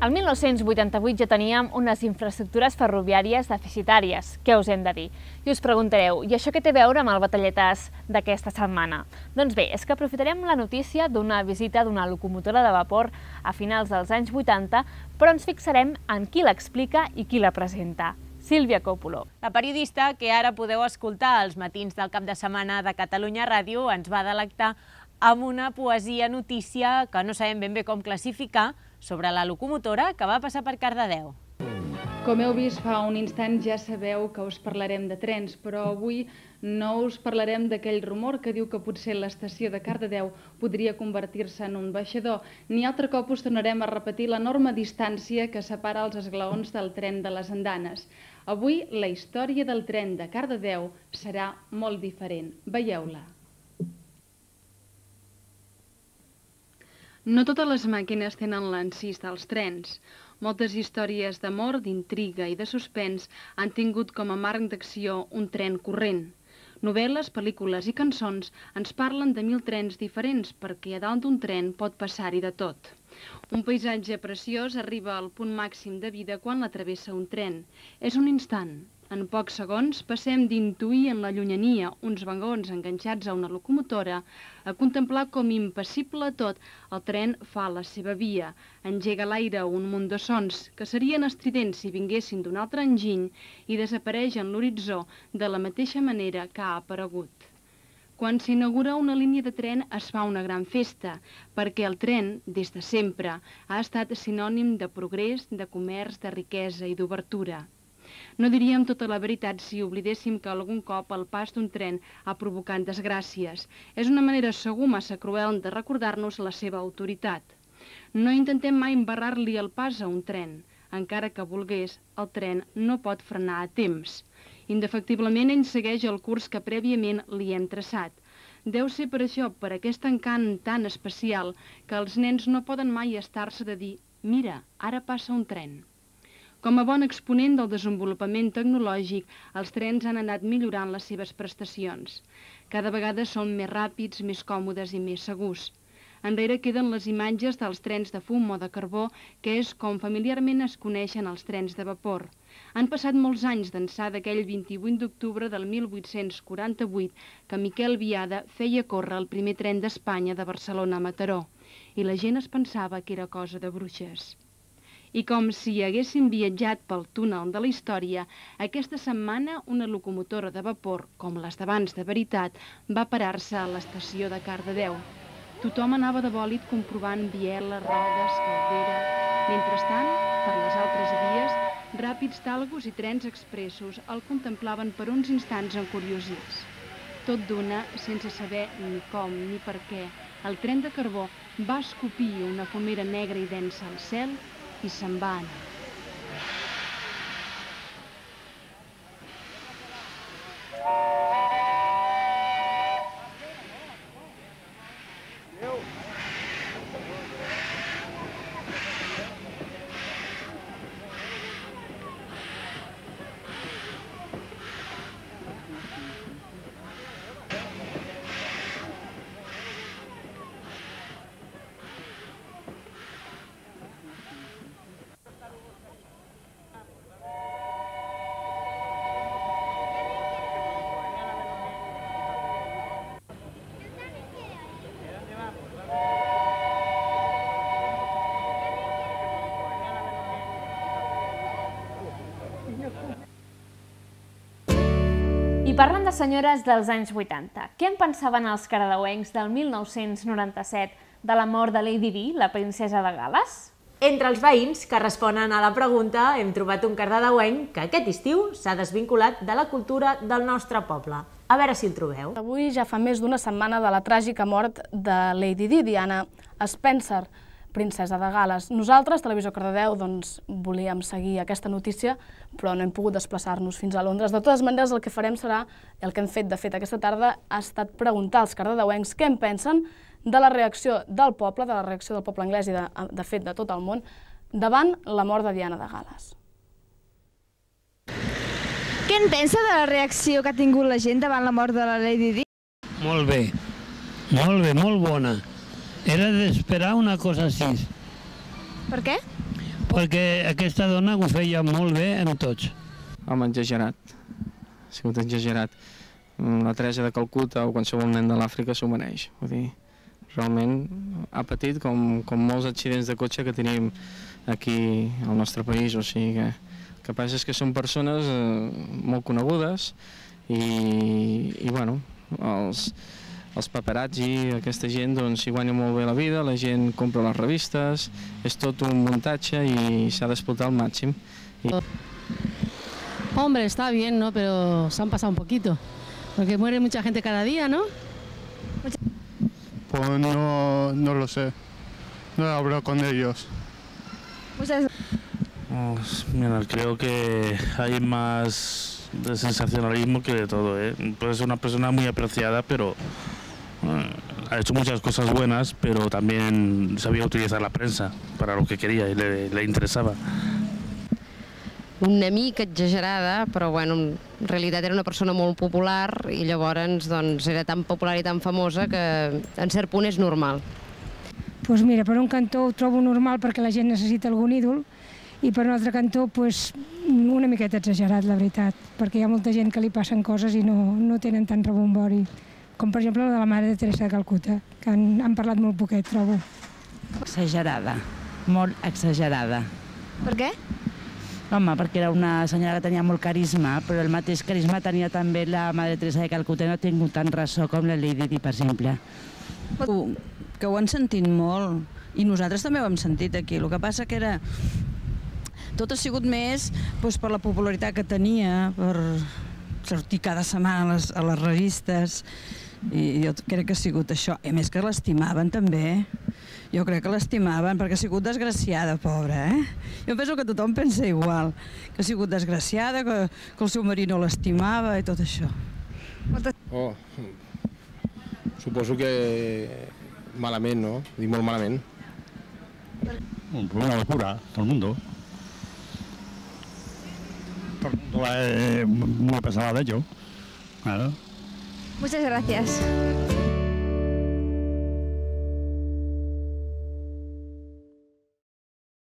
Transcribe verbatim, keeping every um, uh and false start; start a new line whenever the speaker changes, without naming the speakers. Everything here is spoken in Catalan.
El mil nou-cents vuitanta-vuit ja teníem unes infraestructures ferroviàries deficitàries, què us hem de dir? I us preguntareu, i això què té a veure amb el batalletàs d'aquesta setmana? Doncs bé, és que aprofitarem la notícia d'una visita d'una locomotora de vapor a finals dels anys vuitanta, però ens fixarem en qui l'explica i qui la presenta. Sílvia Coppola.
La periodista que ara podeu escoltar als matins del cap de setmana de Catalunya Ràdio ens va delectar amb una poesia notícia que no sabem ben bé com classificar sobre la locomotora que va passar per Cardedeu.
Com heu vist fa un instant ja sabeu que us parlarem de trens, però avui no us parlarem d'aquell rumor que diu que potser l'estació de Cardedeu podria convertir-se en un baixador, ni altre cop us tornarem a repetir l'enorme distància que separa els esglaons del tren de les andanes. Avui la història del tren de Cardedeu serà molt diferent. Veieu-la. No totes les màquines tenen l'encís dels trens. Moltes històries d'amor, d'intriga i de suspens han tingut com a marc d'acció un tren corrent. Novel·les, pel·lícules i cançons ens parlen de mil trens diferents perquè a dalt d'un tren pot passar-hi de tot. Un paisatge preciós arriba al punt màxim de vida quan l'atravessa un tren. És un instant. En pocs segons passem d'intuir en la llunyania uns vagons enganxats a una locomotora a contemplar com impassible tot el tren fa la seva via, engega a l'aire un munt de sons que serien estridents si vinguessin d'un altre enginy i desapareix en l'horitzó de la mateixa manera que ha aparegut. Quan s'inaugura una línia de tren es fa una gran festa, perquè el tren, des de sempre, ha estat sinònim de progrés, de comerç, de riquesa i d'obertura. No diríem tota la veritat si oblidéssim que algun cop el pas d'un tren ha provocat desgràcies. És una manera segur massa cruel de recordar-nos la seva autoritat. No intentem mai embarrar-li el pas a un tren. Encara que volgués, el tren no pot frenar a temps. Indefectiblement ell segueix el curs que prèviament li hem traçat. Deu ser per això, per aquest encant tan especial, que els nens no poden mai estar-se de dir «Mira, ara passa un tren». Com a bon exponent del desenvolupament tecnològic, els trens han anat millorant les seves prestacions. Cada vegada són més ràpids, més còmodes i més segurs. Enrere queden les imatges dels trens de fum o de carbó, que és com familiarment es coneixen els trens de vapor. Han passat molts anys d'ençà d'aquell vint-i-vuit d'octubre del mil vuit-cents quaranta-vuit que Miquel Biada feia córrer el primer tren d'Espanya de Barcelona a Mataró, i la gent es pensava que era cosa de bruixes. I com si haguéssim viatjat pel túnel de la història, aquesta setmana una locomotora de vapor, com les d'abans de veritat, va parar-se a l'estació de Cardedeu. Tothom anava de bòlit comprovant bieles, rodes, caldera. Mentrestant, per les altres vies, ràpids talgos i trens expressos el contemplaven per uns instants encuriosits. Tot d'una, sense saber ni com ni per què, el tren de carbó va escopir una fumera negra i densa al cel i se'n va anar.
I parlant de senyores dels anys vuitanta, què en pensaven els cardedeuencs del mil nou-cents noranta-set de la mort de Lady Di, la princesa de Gal·les?
Entre els veïns que responen a la pregunta hem trobat un cardedeuenc que aquest estiu s'ha desvinculat de la cultura del nostre poble. A veure si el trobeu.
Avui ja fa més d'una setmana de la tràgica mort de Lady Di, Diana Spencer, princesa de Gal·les. Nosaltres, Televisió Cardedeu, doncs, volíem seguir aquesta notícia, però no hem pogut desplaçar-nos fins a Londres. De totes maneres, el que farem serà, el que hem fet de fet aquesta tarda, ha estat preguntar als cardedeuencs què en pensen de la reacció del poble, de la reacció del poble anglès i, de, de fet, de tot el món, davant la mort de Diana de Gal·les.
Què en pensa de la reacció que ha tingut la gent davant la mort de la Lady Di?
Molt bé, molt bé, molt bona. Era d'esperar una cosa així.
Per què?
perquè aquesta dona ho feia molt bé en tots.
Home, exagerat. Ha sigut exagerat. La Teresa de Calcuta o qualsevol nen de l'Àfrica s'ho mereix. Vull dir, realment ha patit com, com molts accidents de cotxe que tenim aquí al nostre país. O sigui que el que passa és que són persones eh, molt conegudes i, i bueno, els, els paparazzi, aquesta gent doncs s'hi guanya molt bé la vida, la gent compra les revistes, és tot un muntatge i s'ha d'explotar al màxim. I...
Hombre, está bien, ¿no? Pero se han pasado un poquito. Porque muere mucha gente cada día, ¿no?
Pues no, no lo sé. No he hablado con ellos.
Muchas
Pues, mira, creo que hay más de sensacionalismo que de todo, ¿eh? Puede ser una persona muy apreciada, pero eh, ha hecho muchas cosas buenas, pero también sabía utilizar la prensa para lo que quería y le, le interesaba.
Una mica exagerada, però bueno, en realitat era una persona molt popular i llavors doncs, era tan popular i tan famosa que en cert punt és normal.
Pues mira, per un cantó ho trobo normal perquè la gent necessita algun ídol i per un altre cantó pues, una miqueta exagerat, la veritat, perquè hi ha molta gent que li passen coses i no, no tenen tant rebombori, com per exemple la de la mare de Teresa de Calcuta, que han, han parlat molt poquet, trobo.
Exagerada, molt exagerada.
Per què?
Home, perquè era una senyora que tenia molt carisma, però el mateix carisma tenia també la Mare Teresa de Calcuta, no ha tingut tant ressò com la Lady Di, per exemple.
Que ho han sentit molt, i nosaltres també ho hem sentit aquí. El que passa que era... Tot ha sigut més doncs, per la popularitat que tenia, per sortir cada setmana a les, a les revistes, i jo crec que ha sigut això. I a més que l'estimaven també. Jo crec que l'estimaven perquè ha sigut desgraciada, pobra, eh? Jo penso que tothom pensa igual, que ha sigut desgraciada, que, que el seu marit no l'estimava i tot això.
Oh, suposo que malament, no? Dic molt malament.
Una locura, todo el mundo. Todo el mundo es muy pesado de ello. Claro.
Muchas gracias.